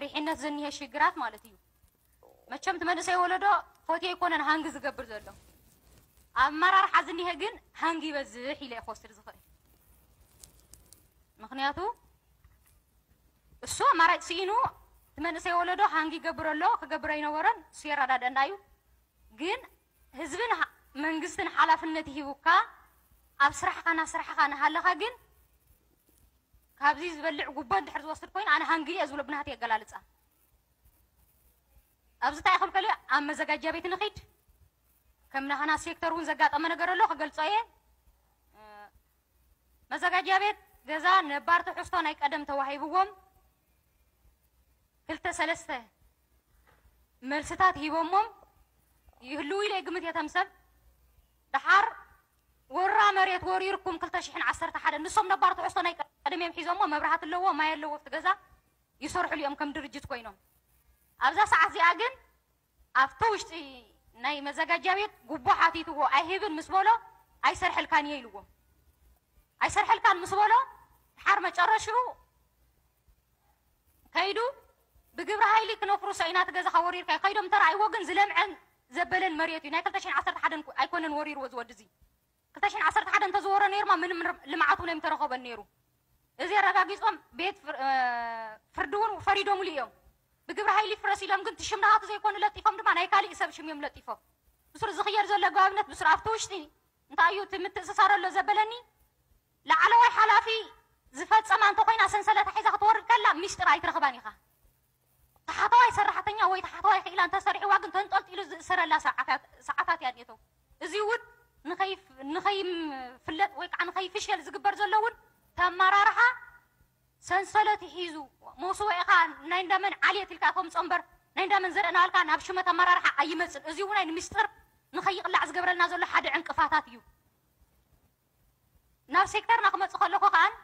መሪሕነት ዝኒሀ ሽግራት ማለት እዩ። መቸም እቲ መንእሰይ ወለዶ ፎትዮ ኣይኮነን ሃንግ ዝገብር ዘሎ፣ ኣብ ኣመራርሓ ዝኒሀ ግን ሃንግ ይበዝሕ ኢለ ክወስድ ዝኽእል። ምክንያቱ እሱ ኣማራጭ ስኢኑ እቲ መንእሰይ ወለዶ ሃንግ ይገብር ኣሎ፣ ክገብር ኣይነበረን፣ እሱ የረዳድአና እዩ። ግን ህዝብን ሃ- መንግስትን ሓላፍነት ይሂቡካ፣ ኣብ ስራሕኻ፣ ናብ ስራሕኻ እናሃለኻ ግን ካብዚ ዝበልዕ ጉቦ እንድሕር ዝወስድ ኮይኑ ኣነ ሃንግ እየ ዝብሎ ብናተይ ኣገላልፃ። ኣብዚ እንታይ ክብል ከልዮ ኣብ መዘጋጃ ቤት ንኺድ፣ ከም ናህና ሴክተር እውን ዘጋጠመ ነገር ኣሎ ክገልፆ እየ። መዘጋጃ ቤት ገዛ ነባር ትሕዝቶ ናይ ቀደም ተዋሂብዎም ክልተ ሰለስተ መልስታት ሂቦሞም ይህልዉ ኢለ ይግምት እየ። ተምሰብ ደሓር ወራ መሬት ወሪርኩም ክልተ ሽሕን ዓሰርተ ሓደን ንሶም ነባር ትሕዝቶ ናይ ቀደም እዮም ሒዞሞ። መብራህቲ ኣለዎ፣ ማይ ኣለዎ፣ ኣብቲ ገዛ ይሰርሕሉ እዮም ከም ድርጅት ኮይኖም። ኣብዛ ሰዓት እዚኣ ግን ኣብቲ ውሽጢ ናይ መዘጋጃ ቤት ጉቦ ሓቲትዎ ኣይህብን ምስ በሎ ኣይሰርሐልካን እየ ኢልዎ። ኣይሰርሐልካን ምስ በሎ ድሓር መጨረሽኡ ከይዱ ብግብረ ሃይሊ ክነፍርሶ ኢና እቲ ገዛኻ ወሪርካ ከይዶም ተራእይዎ ግን ዝለምዐን ዘበለን መሬት እዩ። ናይ ክልተ ሽሕን ዓሰርተ ሓደን ኣይኮነን ወሪርዎ ዝወዲ እዚ ክልተ ሽሕን ዓሰርተ ሓደን እንተዝወሮ ነይሩማ ምንም ልምዓት እውን ኣይምተረኸበን ነይሩ። እዚ ኣረጋጊጾም ቤት ፍር- እ፣ ፍርዲ እውን ፈሪዶምሉ እዮም። ብግብረ ሃይሊ ፍረስ ኢሎም ግን እቲ ሽም ናቱ ዘይኮኑ ለጢፎም ድማ ናይ ካሊእ ሰብ ሽም እዮም ለጢፎም። ብስሩ ዝኽየድ ዘሎ ኣገባብነት ብስሩ ኣብቲ ውሽጢ እንታይ እዩ እቲ ምትእስሳር ኣሎ ዘበለኒ ላዕለዋይ ሓላፊ ዝፈጸማ እንተኮይና ሰንሰለታ ሒዛ ክትወርድ ከላ ሚስጥር ኣይትረኽባን ኢኻ። ታሕተዋይ ሰራሕተኛ ወይ ታሕተዋይ ክኢላ እንተሰሪሕዋ ግን ተንጠልጢሉ ዝእሰረላ ሰዓታት ሰዓታት እያ እኒአቶ። እዚ እውን ንኸይፍ- ንኸይፍለጥ ወይ ከዓ ንኸይፍሸል ዝግበር ዘሎ እውን ተመራርሓ ሰንሰለት ሒዙ መውስወ ኢኻ ናይ እንዳመን ዓልየት ኢልካ ተምፆ እምበር ናይ እንዳመን ዘርእናልካ ናብ ሽመት ኣመራርሓ ኣይመፅን። እዚ እውን ናይ ንምስጥር ንኸይቕላዕ ዝገብረልና ዘሎ ሓደ ዕንቅፋታት እዩ። ናብ ሴክተርና ክመፅእ ከለኹ ከዓን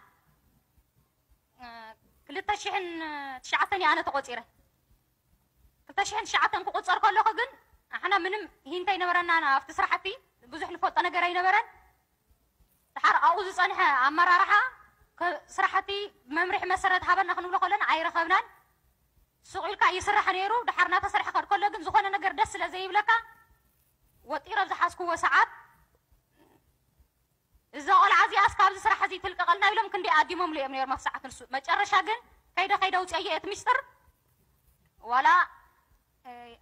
ክልተ ሽሕን ትሽዓተን እየ ኣነ ተቆፂረ። ክልተ ሽሕን ትሽዓተን ክቁፀር ከለኹ ግን ኣሕና ምንም ሂንት ኣይነበረና ኣብቲ ስራሕቲ ብዙሕ ንፈልጦ ነገር ኣይነበረን። ድሓር ኣብኡ ዝፀንሐ ኣመራርሓ ከ- ስራሕቲ መምርሒ መሰረት ሃበና ክንብሎ ከለና ኣይረኸብናን። ሱቕ ኢልካ ይስራሕ ነይሩ። ድሓር እናተሰርሐ ከድ ከሎ ግን ዝኾነ ነገር ደስ ስለ ዘይብለካ ወጢረ ኣብ ዝሓዝክዎ ሰዓት እዛ ቆልዓ እዚኣስ ካብዚ ስራሕ እዚ ትልቀቐልና ኢሎም ክንደይ ኣዲሞምሉ እዮም ነይሮም ኣብ ሰዓት ንሱ። መጨረሻ ግን ከይደ ከይደ ኣውፅአዮ እቲ ሚስጥር ዋላ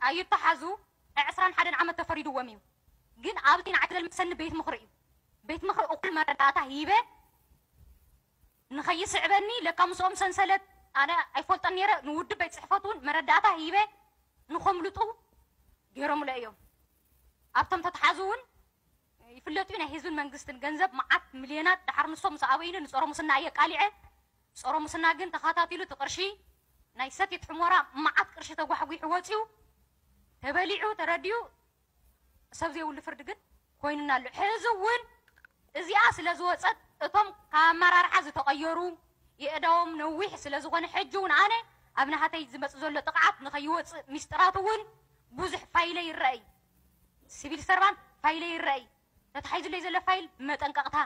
ኣይተሓዙ ዕስራን ሓደን ዓመት ተፈሪድዎም እዩ። ግን ኣብቲ ንዓይ ዘልመሰኒ ቤት ምኽሪ እዩ። ቤት ምኽሪ እኹል መረዳእታ ሂበ ንኸይስዕበኒ ለካ ምስኦም ሰንሰለት ኣነ ኣይፈልጦን ነይረ። ንውድብ ቤት ፅሕፈት እውን መረዳእታ ሂበ ንኸምልጡ ገይሮምሎ እዮም። ኣብቶም ተተሓዙ እውን ይፍለጡ እዩ። ናይ ህዝብን መንግስትን ገንዘብ መዓት ሚልዮናት ድሓር ንሶም ምስ ኣበይኑ ንፀረ ሙስና እየ ቃሊዐ። ፀረ ሙስና ግን ተኸታቲሉ እቲ ቅርሺ ናይ ሰቲት ሕሞራ መዓት ቅርሺ ተጓሕጒሑ ወፂኡ ተበሊዑ ተረዲኡ ሰብ ዘይብሉ ፍርዲ ግን ኮይኑና ኣሎ። ሕዚ እውን እዚኣ ስለ ዝወፀት እቶም ካብ ኣመራርሓ ዝተቐየሩ የእዳዎም ነዊሕ ስለ ዝኾነ ሕጂ እውን ኣነ ኣብ ናሃተይ ዝመፅ ዘሎ ጥቕዓት ንኸይወፅእ ሚስጥራት እውን ብዙሕ ፋይለ ይረኣይ። ሲቪል ሰርቫንት ፋይለ ይረኣይ። ተታሒዙለይ ዘሎ ፋይል ብመጠንቀቕታ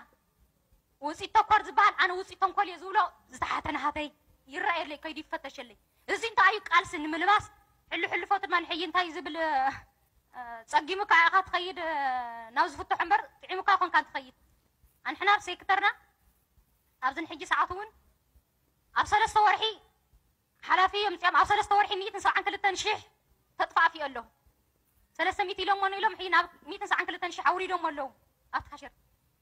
ውፅኢት ተኳር ዝበሃል ኣነ ውፅኢት ተንኮል እየ ዝብሎ ዝተሓተ ናሃተይ ይረኣየለይ ከይዱ ይፈተሸለይ። እዚ እንታይ እዩ ቃልሲ ንምልባስ ሕሉ ሕልፎ ድማ ንሕይ እንታይ ዝብል እ፣ ጸጊሙካ ኢኻ ትኸይድ እ፣ ናብ ዝፍትሑ እምበር ጥዒሙካ ኮንካ ትኸይድ። ኣንሕና ኣብ ሴክተርና ኣብዚ ንሕጂ ሰዓት እውን ኣብ ሰለስተ ወርሒ ሓላፊ እዮም ምፅኦም ኣብ ሰለስተ ወርሒ ሚእትን ሰብዓን ክልተን ሽሕ ተጥፋእፊ ኣሎ። ሰለስተ ሚእቲ ኢሎሞ ኢሎም ሕይ ናብ ሚእትን ሰብዓን ክልተን ሽሕ ኣውሪዶም ኣለዉ ኣብቲ ካሸር።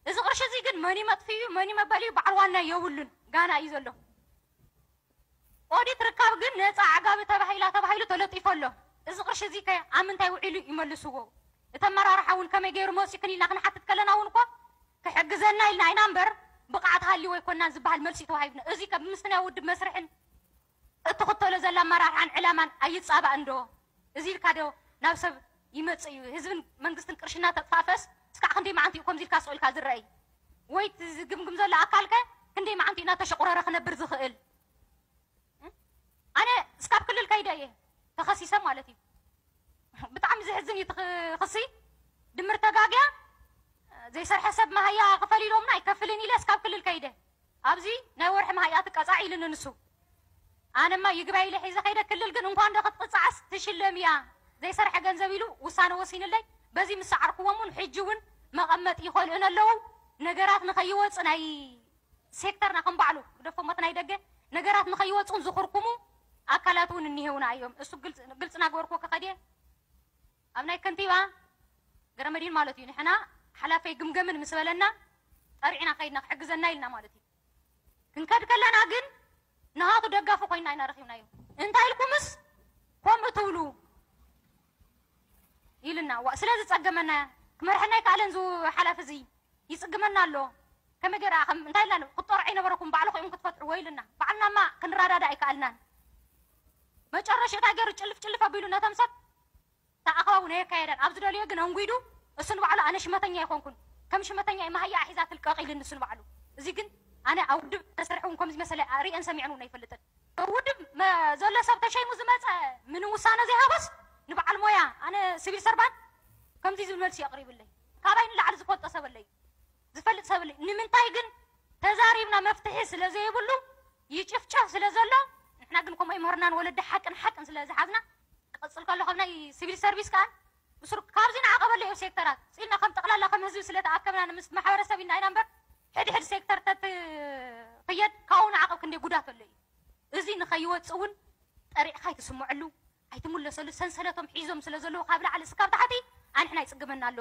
እዚ ቅርሺ እዚ ግን መኒ መጥፍዩ መኒ መበልዩ በዓል ዋና የብሉን ጋና እዩ ዘሎ። ኦዲት ርካብ ግን ነፃ ዓጋቢ ተባሂላ ተባሂሉ ተለጢፎ ኣሎ። እዚ ቅርሺ እዚ ከ ኣብ ምንታይ ውዒሉ ይመልስዎ? እቲ ኣመራርሓ እውን ከመይ ገይሩ መፂእክን ኢልና ክንሓትት ከለና እውን እኮ ክሕግዘና ኢልና ኢና እምበር ብቕዓት ሃልዩ ኣይኮናን ዝበሃል መልሲ ተዋሂብና። እዚ ከ ብምስቲ ናይ ውድብ መስርሕን እትኽተሎ ዘላ ኣመራርሓን ዕላማን ኣይፃባእን ዶ? እዚ ኢልካ ዶ ናብ ሰብ ይመፅእ እዩ? ህዝብን መንግስትን ቅርሽና ተጥፋፈስ እስካዕ ክንደይ መዓንቲ እዩ ከምዚ ኢልካ ስቕ ኢልካ ዝረኣይ? ወይ እቲ ዝግምግም ዘሎ ኣካልከ ክንደይ መዓንቲ እዩ እናተሸቑረረ ክነብር ዝኽእል? ኣነ እስካብ ክልል ከይደ እየ ተኸሲሰ ማለት እዩ። ብጣዕሚ ዝሕዝን እዩ እቲ ክሲ። ድምር ተጋግያ ዘይሰርሐ ሰብ መሃያ ክፈል ኢሎምና ኣይከፍልን ኢለ እስካብ ክልል ከይደ ኣብዚ ናይ ወርሒ መሃያ ትቀፃዕ ኢሉኒ ንሱ። ኣነማ ይግባይ ኢለ ሒዘ ከይደ፣ ክልል ግን እንኳን ዶ ክትቅጻዕስ ትሽለም እያ፣ ዘይሰርሐ ገንዘብ ኢሉ ውሳነ ወሲንለይ። በዚ ምስ ሰዓርክዎም እውን ሕጂ እውን መቐመጢ ይኸልኡን ኣለዉ። ነገራት ንኸይወፁ፣ ናይ ሴክተርና ከም ባዕሉ ግደፎ፣ ሞት ናይ ደገ፣ ነገራት ንኸይወፁን ዝኹርኩሙ ኣካላት እውን እኒሄውና እዮም። እሱ ግልፅ፣ ግልፂ ናገበርክዎ ከኸድየ ኣብ ናይ ከንቲባ ገረመዲን ማለት እዩ። ንሕና ሓላፈይ ግምገምን ምስ በለና ጠሪዕና ከይድና ክሕግዘና ኢልና ማለት እዩ። ክንከድ ከለና ግን ንሃቱ ደጋፊ ኮይና ኢና ረኺብናዮ። እንታይ ኢልኩምስ ከምኡ ትብሉ ኢልና። ዋ፣ ስለ ዝጸገመና ክመርሐና ኣይከኣለን። ዝ ሓላፊ እዚ ይጽግመና ኣሎ። ከመይ ገይራ ከም እንታይ ኢልና ክትጠርዑ ኣይነበረኩም፣ ባዕልኹም ክትፈትሕዎ ኢልና። ባዕልናማ ክንረዳዳ ኣይከኣልናን። መጨረሽታ ገይሩ ጭልፍ ጭልፍ ኣቢሉ ነቶም ሰብ እታ ኣኸባቡ ናይ ኣካየዳን ኣብ ዝደልዮ ግን ኣንጒዱ እሱ ንባዕሉ ኣነ ሽመተኛ ኣይኮንኩን፣ ከም ሽመተኛ እየ፣ መሃያ ሒዛ ትልቀቕ ኢሉ ንሱ ንባዕሉ። እዚ ግን ኣነ ኣብ ውድብ ተሰርሐ እውን ከምዚ መሰለ ርእየን ሰሚዐን እውን ኣይፈልጥን። ኣብ ውድብ መ-፣ ዘሎ ሰብ ተሸይሙ ዝመፀ ምንም ውሳነ ዘይሃቦስ ንበዓል ሞያ፣ ኣነ ሲቪል ሰርቫንት ከምዚ ዝብል መልሲ የቕሪብለይ። ካባይ ንላዕሊ ዝፈልጦ ሰብ ኣለይ፣ ዝፈልጥ ሰብ ኣለይ። ንምንታይ ግን ተዛሪብና መፍትሒ ስለ ዘይብሉ ይጭፍጨፍ ስለ ዘሎ፣ ንሕና ግን ከምኡ ኣይምህርናን፣ ወለዲ ሓቅን ሓቅን ስለ ዝሓዝና ክቐጽል ከሎ ካብ ናይ ሲቪል ሰርቪስ ከኣ ብስሩ ካብዚ ንዓቐበሉ እዩ ሴክተራት ጽልና ከም ጠቕላላ ከም ህዝቢ ስለ ተኣከብና ንምስ ማሕበረሰብ ኢና ኢና እምበር ሕድሕድ ሴክተር ተትኽየድ ካብኡ ንዓቐብ ክንደይ ጉዳት ኣሎ እዩ። እዚ ንኸይወጽእ እውን ጠሪዕኻ ኣይትስምዐሉ፣ ኣይትምለሰሉ። ሰንሰለቶም ሒዞም ስለ ዘለዉ ካብ ላዕሊ እስካብ ታሕቲ ኣንሕና ይጽግመና ኣሎ።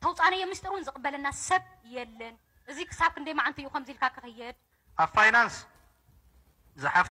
ተውጻነዮ ምስጢር እውን ዝቕበለና ሰብ የለን። እዚ ክሳብ ክንደይ መዓንቱ እዩ ከምዚ ኢልካ ክኽየድ? ኣብ ፋይናንስ ዝሓፍ